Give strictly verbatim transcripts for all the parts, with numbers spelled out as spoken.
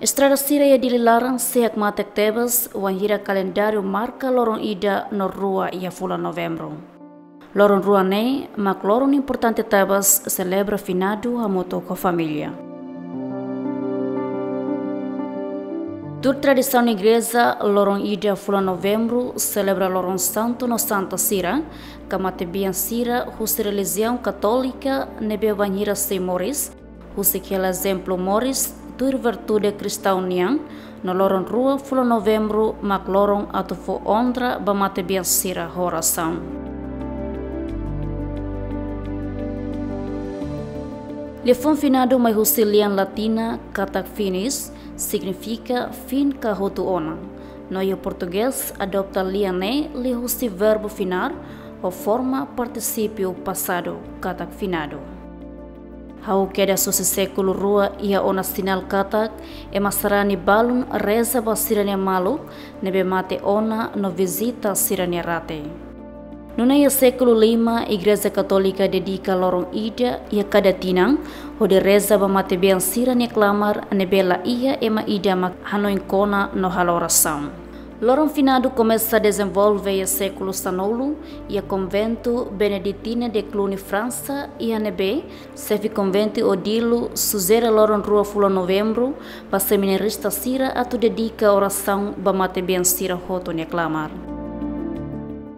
Estrada sira iha Dili laran sei hakmatek tebes wainhira kalendáriu marka loron ida no rua iha fulan Novembru. Loron rua ne'e mak loron importante tebes selebra finadu hamutuk ho família. Tuir tradisaun igreja, loron ida fulan Novembru selebra loron santu no santa sira, ka matebian sira husi relijiaun Katólika ne'ebé wainhira sei moris, husik hela ezemplu moris tuir virtude kristaun nian, no loron rua fulan Novembru mak loron atu fó onra ba matebian sira ho orasaun. Liafuan finadu mai husi lian latina katak finis, signifika fin ka hotu ona. No iha portugés adopta lian ne'e liuhusi verbu finar, ho forma partisípiu pasadu, katak finadu. Hahú kedas husi sékulu rua iha ona sinál katak ema sarani balun reza ba sira-nia maluk ne'ebé mate ona no vizita sira-nia rate. Nune'e iha sékulu lima, Igreja Katólika dedika loron ida iha kada tinan, hodi reza ba matebian sira-nia klamar ne'ebé la iha ema ida mak hanoin kona no halo orasaun. Loron finadu komesa dezenvolve iha sékulu sanulu, iha konventu Beneditina de Cluny, Fransa, iha ne'ebé xefe konventu Odilo sujere loron rua fulan Novembru ba seminarista sira atu dedika orasaun ba matebian sira hotu nia klamar.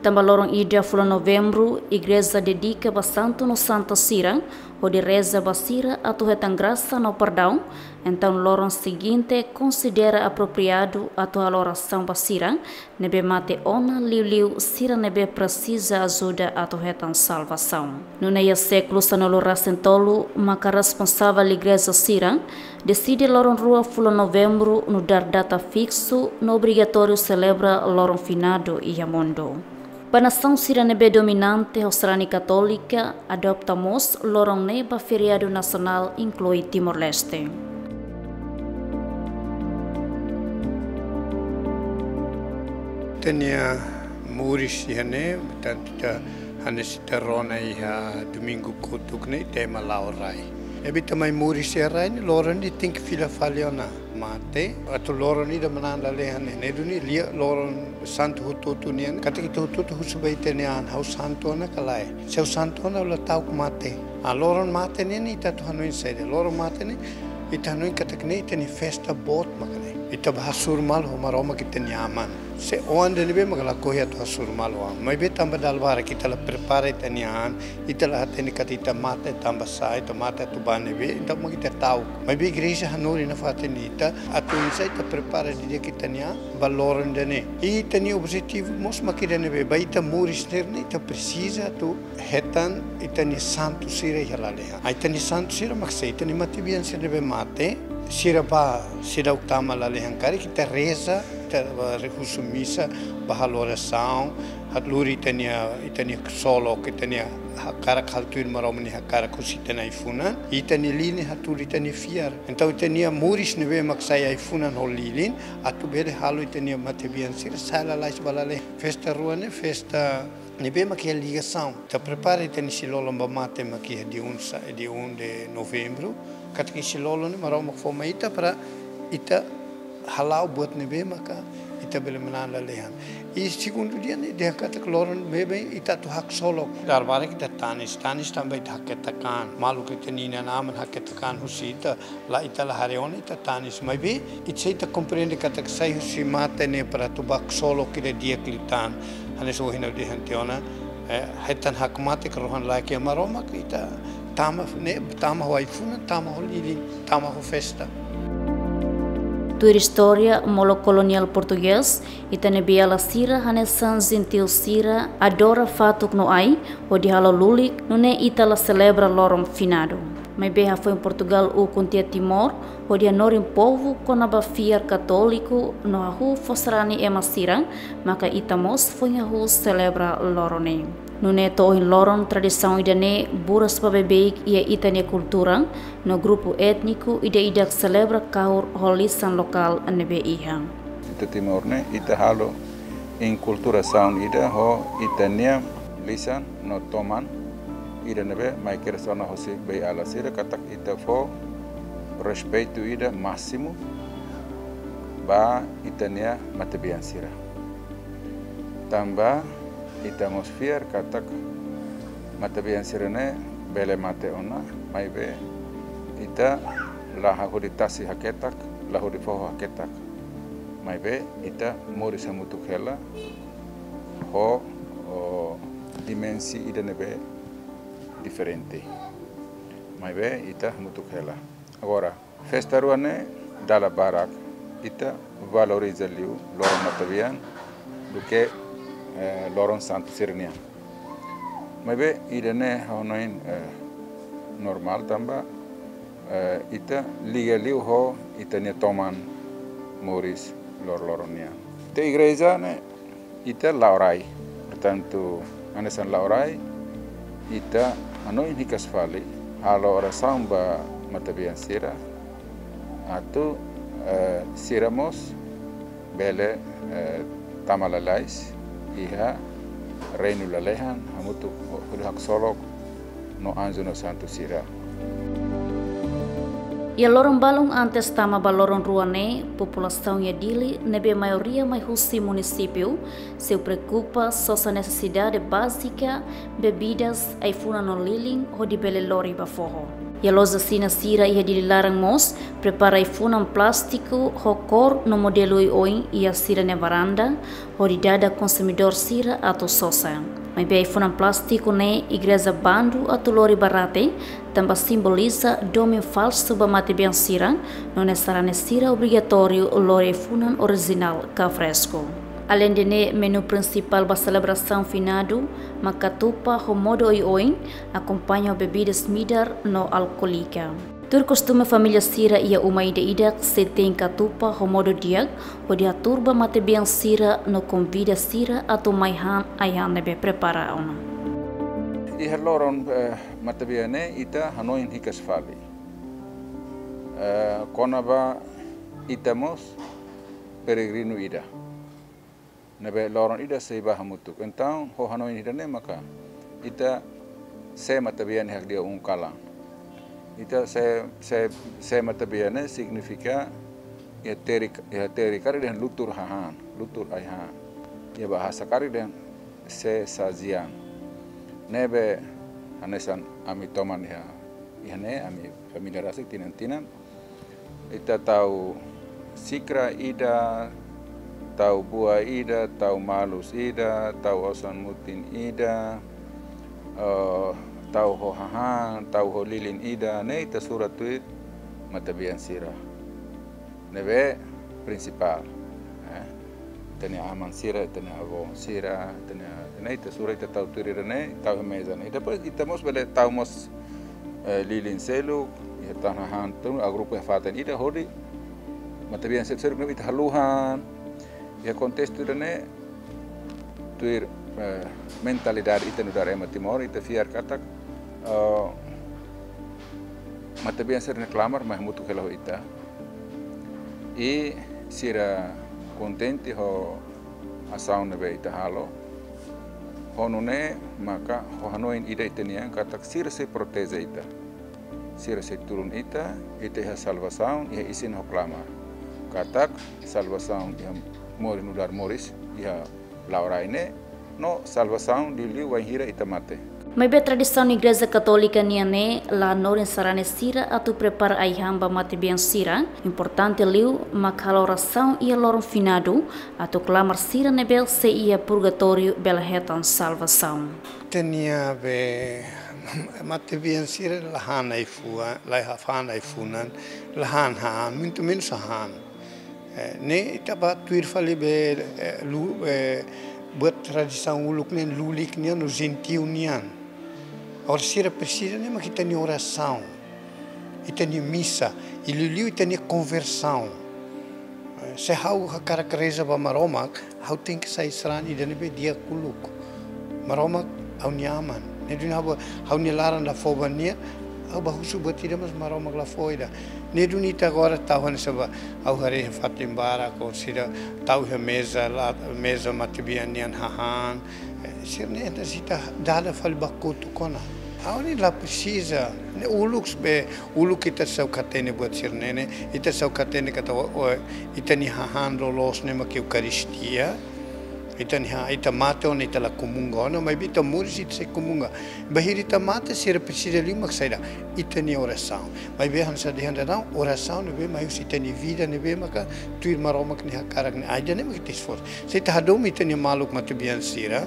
Tanba loron ida fulan Novembru, igreja dedika ba santu no santa sira, hodi reza ba sira atu hetan grasa no perdaun, entaun loron seguinte konsidera apropriadu atu halo orasaun ba sira ne'ebé mate ona, liuliu sira ne'ebé presiza ajuda atu hetan salvasaun. Nune'e iha sékulu sanulu resin tolu maka responsavel igreja sira deside loron rua fulan Novembru nu'udar data fiksu no obrigatóriu selebra loron finadu iha mundu. Ba nasaun sira ne'ebé dominante ho sarani Katólika adopta mós loron ne'e ba feriadu nasionál, inklui Timor-Leste. Ita-nia moris iha ne'e, portantu ita hanesan ita rona iha domingu kotuk ne'e, ita ema la'o rai. Ne'ebé ita mai moris iha rai ne'e, loron ne'e tenke fila fali ona mate, atu loron ida manán lalehan ne'e. Ne'e duni lia loron santu hotu-hotu nian, katak ita hotu-hotu husu ba ita-nia an, ha'u santu ona ka lae? Se ha'u santu ona, ha'u la ta'uk mate. Ah, loron mate ne'e, ne'e ita atu hanoin saida? Loron mate ne'e, ita hanoin katak ne'e ita-nia festa boot maka ne'e. Ita bá hasoru malu ho Maromak ita-nia Aman. Se oan ida ne'ebé maka lakohi atu hasoru malu ho Aman. Maibé tanba dala barak ita la prepara ita-nia an, ita la hatene katak ita mate tanba sá, ita mate atu ba ne'ebé, entaun mak ita ta'uk. Maibé igreja hanorin nafatin ita, atu oinsá ita prepara didi'ak ita-nia an ba loron ida-ne'e. I ita-nia objetivu mós mak ida ne'ebé, ba ita moris ne'e, ne'e ita presiza atu hetan ita-nia santu sira iha lalehan. Ah, ita-nia santu sira mak sé? Ita-nia matebian sira ne'ebé mate, sira bá, seidauk tama lalehan karik, ita reza, ita bá husu misa, bá halo orasaun, hatluri ita-nia, ita-nia ksolok, ita-nia hakarak halo tuir Maromak nia hakarak husi ita-nia ai-funan, ita-nia lilin hatluri ita-nia fiar. Entaun ita-nia moris ne'ebé mak sai ai-funan ho lilin, atu bele halo ita-nia matebian sira sai lalais ba lalehan. Festa rua ne'e festa ne'ebé mak iha ligasaun. Ita prepara ita-nia isin-lolon ba mate mak iha dia um sa-, dia um de Novembro. Katak isin-lolon ne'e Maromak fó mai ita para ita hala'o buat ne'ebé maka ita bele manán lalehan. I segundu dia ne'e dehan katak loron ne'ebé ita atu haksolok. Dala barak ita tanis, tanis tanba ita haketak an. Maluk ita-nia inan-aman haketak an husi ita, la ita la haree ona ita tanis. Maibé, ita sei ita komprende katak sai husi mate ne'e para atu bá ksolok ida di'ak liután. Hanesan ohin ha'u dehan tiha ona, eh, hetan hakmatek rohan-laek iha Maromak, ita tama ne'e, tama ho ai-funan, tama ho lilin, tama ho festa. Tuir istória molok koloniál portugés, ita-nia beiala sira hanesan jentiu sira adora fatuk no ai, hodi halo lulik, nune'e ita la selebra loron finadu. Maibé hafoin Portugál ukun tiha Timor, hodi hanorin povu kona-ba fiar katóliku no hahú fó sarani ema sira, maka ita mós foin hahú selebra loron ne'e. Nune'e to'o ohin loron tradisaun ida-ne'e buras ba beibeik iha ita-nia kultura, no grupu étniku ida-idak selebra kahur ho lisan lokál ne'ebé iha. Ita Timor ne'e, ita halo inkulturasaun ida ho ita-nia lisan no toman. ida ne'ebé mai kedas ona hosi bei-ala sira katak ita fó respeitu ida másimu ba ita-nia matebian sira. Tanba ita mós fiar katak matebian sira-ne'e bele mate ona, maibé ita la hodi tasi haketak, la hodi foho haketak. Maibé ita moris hamutuk hela ho, ho dimensi ida ne'ebé diferente. Maibé ita hamutuk hela. Agora, festa rua ne'e dala barak ita valoriza liu loron matebian duké, eh, loron santu sira-nian. Maibé ida-ne'e ha'u hanoin, eh, normál tanba, eh, ita liga liu ho ita-nia toman moris loroloron nian. Iha igreja ne'e ita la'o rai. Portantu, hanesan la'o rai, ita hanoin hikas fali halo orasaun ba matebian sira atu, eh, sira mós bele, eh, tama lalais iha reinu lalehan hamutuk ho, hodi haksolok no anju no santu sira. Iha loron balun antes tama ba loron rua ne'e, populasaun iha Dili ne'ebé maioria mai husi munisípiu, sei preokupa sosa nesesidade bázika, bebidas, ai-funan no lilin, hodi bele lori ba foho. Iha loja Xina sira iha Dili laran mós prepara ai-funan plástiku ho kór no modelu oioin iha sira-nia varanda, hodi dada konsumidór sira atu sosa. Maibé ai-funan plástiku ne'e igreja bandu atu lori ba rate, tanba simboliza domin falsu ba matebian sira, nune'e sarani sira obrigatóriu lori ai-funan orijinál ka fresku. Aleinde ne'e, menu prinsipál ba selebrasaun finadu mak katupa ho modo oioin, akompaña ho bebidas midar no alkoólika. Tuir kostume, família sira iha uma ida-idak sei tein katupa ho modo di'ak, hodi hatuur ba matebian sira no konvida sira atu mai han ai-han ne'ebé prepara ona. Iha loron, eh, matebian ne'e ita hanoin hikas fali. Eh, kona-ba ita mós peregrinu ida ne'ebé loron ida sei bá hamutuk. Entaun, ho hanoin ida-ne'e maka ita sé matebian iha di'ak un kalan. Ita sé, sé, sé matebian ne'e signifika iha Terik, iha Terik karik dehan lutur hahán, lutur ai-han. Iha bahasa karik dehan sé sajian. Ne'ebé hanesan ami toman iha, iha ne'e ami família rasik tinan-tinan ita tau xikra ida, tau buah ida, tau malus ida, tau osan-mutin ida, eh, tau ho hahán, tau ho lilin ida, ne'e ita sura tuir matebian sira ne'ebé prinsipál, eh. Ita-nia aman sira, ita-nia avó sira, ita-nia, ne'e ita sura, ita tau tuir ida-ne'e, tau iha meza ne'e. Depois ita mós bele tau mós, eh, lilin seluk, iha tan hahán tun, agrupa iha fatin ida hodi matebian seluk-seluk ne'e ita haluhan. Iha kontestu ida-ne'e, tuir, eh, mentalidade ita nu'udar ema Timor, ita fiar katak, eh, matebian sira-ne'e klamar mai hamutuk hela ho ita. I sira kontente ho asaun ne'ebé ita halo. Ho nune'e maka ho hanoin ida ita-nian katak sira sei proteje ita. Sira sei tulun ita, ita iha salvasaun, iha isin ho klamar. Katak salvasaun iha moris nu'udar moris, iha la'o rai ne'e, no salvasaun liuliu wainhira ita mate. Maibé tradisaun Igreja Katólika nian ne'e la hanorin sarani sira atu prepara ai-han ba matebian sira. Importante liu mak halo orasaun iha loron finadu atu klamar sira ne'ebé sei iha purgatóriu bele hetan salvasaun. Ita-nia be matebian sira la han ai-fuan, la han ai-funan, la han hahán, muito menos hahán. Eh, ne'e ita bá tuir fali be, eh, lu-, eh, buat tradisaun uluk nian, lulik nian, no jentiu nian. Agora sira presiza ne'e mak ita-nia orasaun, ita-nia misa, i liuliu ita-nia konversaun. Eh, se ha'u hakarak reza ba Maromak, ha'u tenke sai sarani ida ne'ebé di'ak uluk. Maromak ha'u-nia aman. Ne'e duni ha'u ba, ha'u-nia laran la fó ba nia, ha'u bá husu buat ida mas Maromak la fó ida. Ne'e duni ita agora tau hanesan ba, ha'u haree iha fatin barak, orsida tau iha meza, la, meza matebian nian hahán. Eh, sira-ne'e ita sei dada fali ba kotuk ona. Ha'u ne'e la presiza, ne'e uluk be, uluk ita seidauk hatene buat sira-ne'e, ita seidauk hatene katak o, o, ita-nia hahán loloos ne'e mak Eukaristia, ita-nia ha-, ita mate ona ita la komunga ona, maibé ita moris ita sei komunga. Bainhira ita mate sira presiza liu mak saida, ita-nia orasaun. Maibé hanesan dehan daudaun, orasaun ne'ebé mai husi ita-nia vida ne'ebé maka tuir Maromak nia hakarak ne'e, ai ida-ne'e mak ita esforsu. Se ita hadomi ita-nia maluk matebian sira,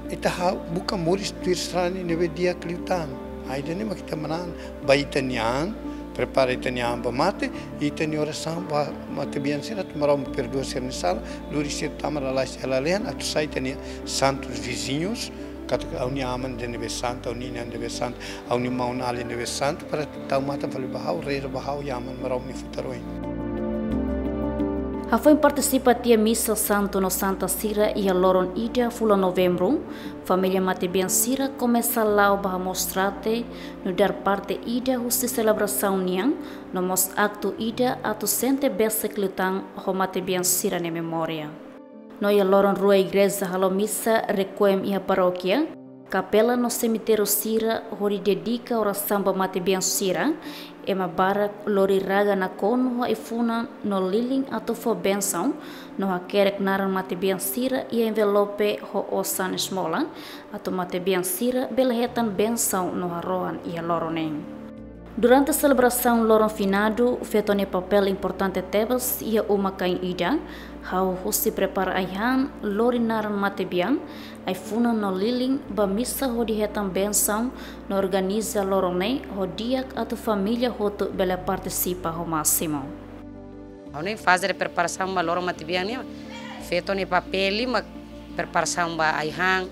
ita halo buka moris tuir sarani ne'ebé di'ak liután. Ai ida-ne'e mak ita manán ba ita-nia an, prepara ita-nia an ba mate, ita-nia orasaun ba matebian sira atu Maromak perdua sira-nia sala, lori sira tama lalais iha lalehan, atu sai ita-nia santus viziñus, katak ha'u-nia aman ida ne'ebé santu, ha'u-nia inan ida ne'ebé santu, ha'u-nia maun-alin ida ne'ebé santu, para tau matan fali ba ha'u, reza ba ha'u iha Aman Maromak nia futar oin. Hafoin partisipa tiha misa santu no santa sira iha loron ida fulan Novembru, família matebian sira komesa la'o ba hamoos rate nu'udar parte ida husi selebrasaun nian, no mós aktu ida atu sente besik liután ho matebian sira-nia memória. No iha loron rua igreja halo misa requiem iha parókia, kapela no semitériu sira hodi dedika orasaun ba matebian sira, ema barak lori raga nakonu ho ai-funan no lilin atu fó bensaun, no hakerek naran matebian sira iha envelope ho osan esmola, atu matebian sira bele hetan bensaun no harohan iha loron ne'e. Durante selebrasaun loron finadu, feto nia papél importante tebes iha uma-kain ida, hahú husi prepara ai-han, lori naran matebian, ai-funan no lilin ba misa hodi hetan bensaun, no organiza loron ne'e ho di'ak atu família hotu bele partisipa ho másimu. Ha'u-nia faze de preparasaun ba loron matebian nian, feto nia papél mak preparasaun ba ai-han,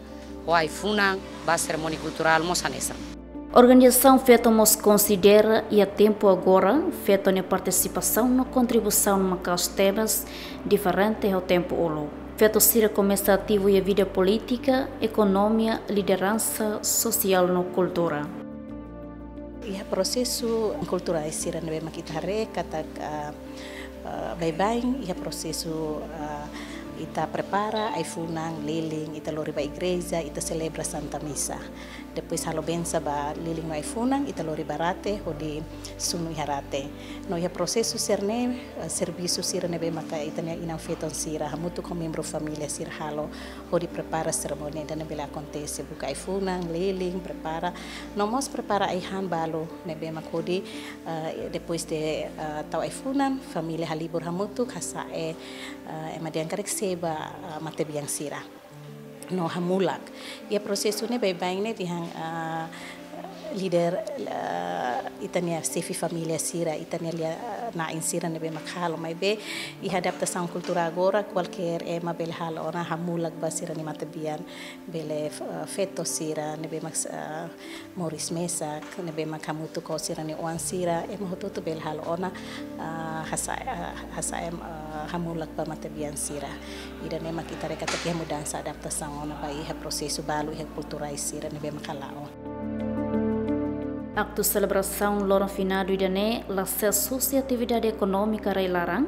ho ai-funan, ba serimónia kulturál mós hanesan. Organizasaun feto mós konsidera iha tempu agora, feto nia partisipasaun no kontribuisaun maka'as tebes, diferente ho tempu uluk. Feto sira komesa ativu iha vida polítika, ekonomia, lideransa, sosiál no kultura. Iha prosesu kulturais sira ne'ebé mak ita haree katak, ah, ah, baibain iha prosesu, ah, ita prepara ai-funan, lilin, ita lori ba igreja, ita selebra Santa Misa. Depois halo bensa ba lilin no ai-funan, ita lori ba rate, hodi sunu iha rate. No iha prosesu sira-ne'e, eh, servisu sira ne'ebé maka ita-nia inan-feton sira, hamutuk ho membru família sira halo, hodi prepara serimónia ida-ne'e bele akontese, buka ai-funan, lilin, prepara. No mós prepara ai-han balu, ne'ebé mak hodi, eh, depois de, eh, tau ai-funan, família halibur hamutuk, hasa'e, eh, ema dehan karik seba, eh, matebian sira. No hamulak. Iha prosesu ne'e baibain ne'e dehan, ah, líder, ah, ita-nia xefe família sira, ita-nia lia, ah, na'in sira ne'ebé mak halo, maibé iha adaptasaun kultura agora, kualkér ema bele halo ona hamulak ba sira-nia matebian, bele, ah, feto sira ne'ebé mak, ah, moris mesak, ne'ebé mak hamutuk ho sira-nia oan sira, ema hotu-hotu bele halo ona, ah, hasa, ah, hasa'e, ah, hamulak ba matebian sira. Ida-ne'e mak ita haree katak iha mudansa, adaptasaun ona ba iha prosesu balu iha kulturais sira ne'ebé mak hala'o. Aktu selebrasaun loron finadu ida-ne'e la sees husi atividade ekonómika rai-laran,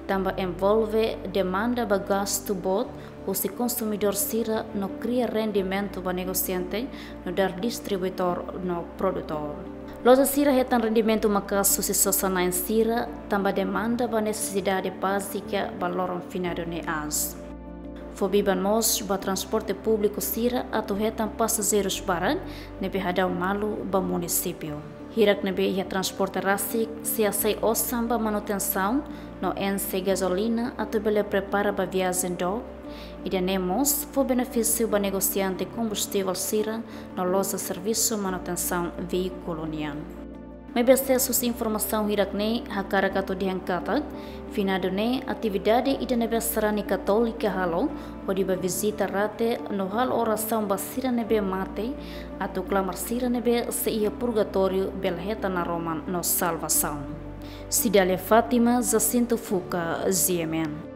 tanba envolve demanda ba gastu boot husi konsumidór sira no kria rendimentu ba negosiante, nu'udar distribuidór no produtór. Loja sira hetan rendimentu maka'as husi sosa-na'in sira, tanba demanda ba nesesidade bázika ba loron finadu ne'e aas. Fó biban mós ba transporte públiku sira atu hetan pasajeirus barak ne'ebé hadau malu ba munisípiu. Hirak ne'ebé iha transporte rasik sei hasai osan ba manutensaun no enxe gazolina atu bele prepara ba viajen dook. Ida-ne'e mós fó benefísiu ba negosiante kombustivel sira no loja servisu manutensaun veíkulu nian. Maibé sees husi informasaun hirak-ne'e hakarak atu dehan katak, finadu ne'e atividade ida ne'ebé sarani katólika halo, hodi bá vizita rate no halo orasaun ba sira ne'ebé mate, atu klamar sira ne'ebé sei iha purgatóriu bele hetan naroman no salvasaun. Cidália Fátima, Jacinto Fuca, G M N.